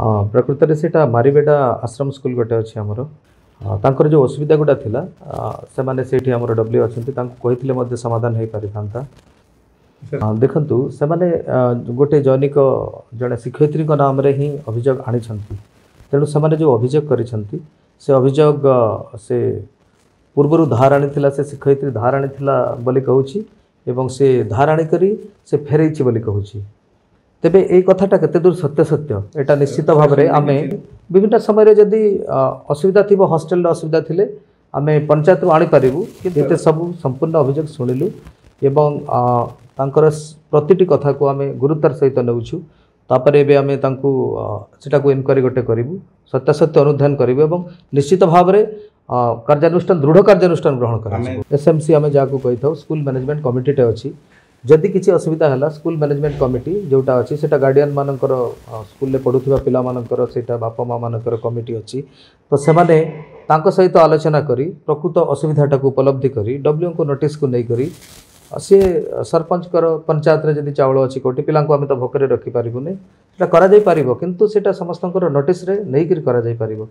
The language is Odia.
ହଁ, ପ୍ରକୃତରେ ସେଇଟା ମାରିବେଡ଼ା ଆଶ୍ରମ ସ୍କୁଲ ଗୋଟେ ଅଛି ଆମର। ତାଙ୍କର ଯେଉଁ ଅସୁବିଧା ଗୁଡ଼ା ଥିଲା, ସେମାନେ ସେଇଠି ଆମର ଡବ୍ଲ୍ୟୁ ଅଛନ୍ତି, ତାଙ୍କୁ କହିଥିଲେ ମଧ୍ୟ ସମାଧାନ ହେଇପାରିଥାନ୍ତା। ଦେଖନ୍ତୁ, ସେମାନେ ଗୋଟେ ଜନୈକ ଜଣେ ଶିକ୍ଷୟିତ୍ରୀଙ୍କ ନାମରେ ହିଁ ଅଭିଯୋଗ ଆଣିଛନ୍ତି। ତେଣୁ ସେମାନେ ଯେଉଁ ଅଭିଯୋଗ କରିଛନ୍ତି, ସେ ଅଭିଯୋଗ ସେ ପୂର୍ବରୁ ଧାର ଆଣିଥିଲା, ସେ ଶିକ୍ଷୟିତ୍ରୀ ଧାର ଆଣିଥିଲା ବୋଲି କହୁଛି ଏବଂ ସେ ଧାର ଆଣିକରି ସେ ଫେରେଇଛି ବୋଲି କହୁଛି। ତେବେ ଏଇ କଥାଟା କେତେ ଦୂର ସତ୍ୟ, ଏଇଟା ନିଶ୍ଚିତ ଭାବରେ ଆମେ ବିଭିନ୍ନ ସମୟରେ ଯଦି ଅସୁବିଧା ଥିବ, ହଷ୍ଟେଲରେ ଅସୁବିଧା ଥିଲେ ଆମେ ପଞ୍ଚାୟତରୁ ଆଣିପାରିବୁ। କିନ୍ତୁ ଏତେ ସବୁ ସମ୍ପୂର୍ଣ୍ଣ ଅଭିଯୋଗ ଶୁଣିଲୁ ଏବଂ ତାଙ୍କର ପ୍ରତିଟି କଥାକୁ ଆମେ ଗୁରୁତ୍ୱର ସହିତ ନେଉଛୁ। ତାପରେ ଏବେ ଆମେ ତାଙ୍କୁ ସେଟାକୁ ଇନକ୍ୱାରି ଗୋଟେ କରିବୁ, ସତ୍ୟାସତ୍ୟ ଅନୁଧ୍ୟାନ କରିବୁ ଏବଂ ନିଶ୍ଚିତ ଭାବରେ କାର୍ଯ୍ୟାନୁଷ୍ଠାନ, ଦୃଢ଼ କାର୍ଯ୍ୟାନୁଷ୍ଠାନ ଗ୍ରହଣ କରାଯିବ। ଏସ୍ ଏମ୍ ସି ଆମେ ଯାହାକୁ କହିଥାଉ, ସ୍କୁଲ ମ୍ୟାନେଜମେଣ୍ଟ କମିଟିଟେ ଅଛି। ଯଦି କିଛି ଅସୁବିଧା ହେଲା, ସ୍କୁଲ ମ୍ୟାନେଜମେଣ୍ଟ କମିଟି ଯେଉଁଟା ଅଛି, ସେଇଟା ଗାର୍ଡ଼ିଆନ୍ ମାନଙ୍କର, ସ୍କୁଲରେ ପଢ଼ୁଥିବା ପିଲାମାନଙ୍କର, ସେଇଟା ବାପା ମା ମାନଙ୍କର କମିଟି ଅଛି। ତ ସେମାନେ ତାଙ୍କ ସହିତ ଆଲୋଚନା କରି ପ୍ରକୃତ ଅସୁବିଧାଟାକୁ ଉପଲବ୍ଧି କରି ଡବ୍ଲ୍ୟୁଙ୍କୁ ନୋଟିସ୍କୁ ନେଇକରି ସିଏ ସରପଞ୍ଚଙ୍କର ପଞ୍ଚାୟତରେ ଯଦି ଚାଉଳ ଅଛି କେଉଁଠି, ପିଲାଙ୍କୁ ଆମେ ତ ଭୋକରେ ରଖିପାରିବୁନି, ସେଇଟା କରାଯାଇପାରିବ। କିନ୍ତୁ ସେଇଟା ସମସ୍ତଙ୍କର ନୋଟିସ୍ରେ ନେଇକରି କରାଯାଇପାରିବ।